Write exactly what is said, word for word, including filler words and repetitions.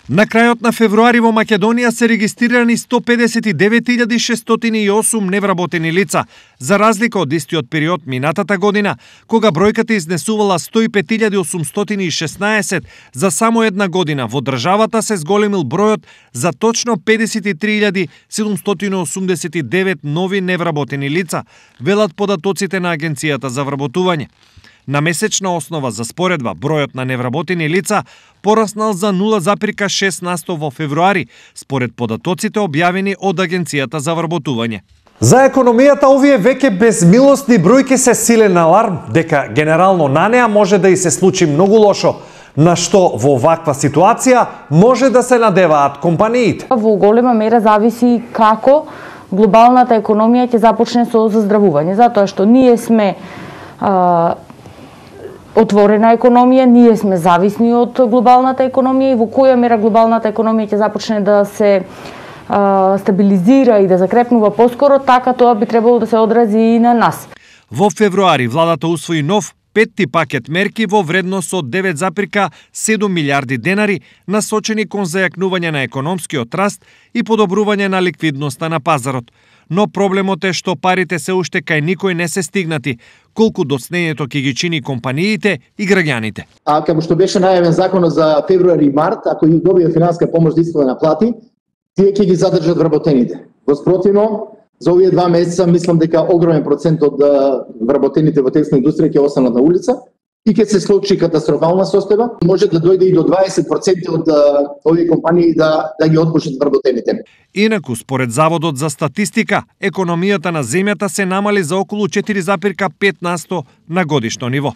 На крајот на февруари во Македонија се регистрирани сто педесет и девет илјади шестстотини и осум невработени лица, за разлика од истиот период минатата година, кога бројката изнесувала сто и пет илјади осумстотини и шеснаесет. За само една година во државата се зголемил бројот за точно педесет и три илјади седумстотини осумдесет и девет нови невработени лица, велат податоците на Агенцијата за вработување. На месечна основа за споредба, бројот на невработени лица пораснал за нула запирка шест на сто во февруари, според податоците објавени од Агенцијата за вработување. За економијата овие веќе безмилосни бројки се силен аларм дека генерално на неа може да и се случи многу лошо, на што во ваква ситуација може да се надеваат компаниите. Во голема мера зависи како глобалната економија ќе започне со заздравување, затоа што ние сме а, отворена економија, ние сме зависни од глобалната економија и во која мера глобалната економија ќе започне да се а, стабилизира и да закрепнува поскоро, така тоа би требало да се одрази и на нас. Во февруари владата усвои нов петти пакет мерки во вредност од девет запирка седум милиарди денари, насочени кон зајакнување на економскиот раст и подобрување на ликвидноста на пазарот. Но проблемот е што парите се уште кај никој не се стигнати, колку доцнењето ќе ги чини компаниите и граѓаните. А како што беше најавен законот за февруари и март, ако ги добија финанска помош да искува на плати, тие ќе ги задржат вработените. Во спротивно, за овие два месеца мислам дека огромен процент од вработените во текстилна индустрија ќе останат на улица и ќе се случи катастрофална состојба. Може да дојде и до дваесет проценти од овие компании да да ги отпушат вработените. Инаку, според Заводот за статистика, економијата на земјата се намали за околу четири запирка пет на сто на годишно ниво.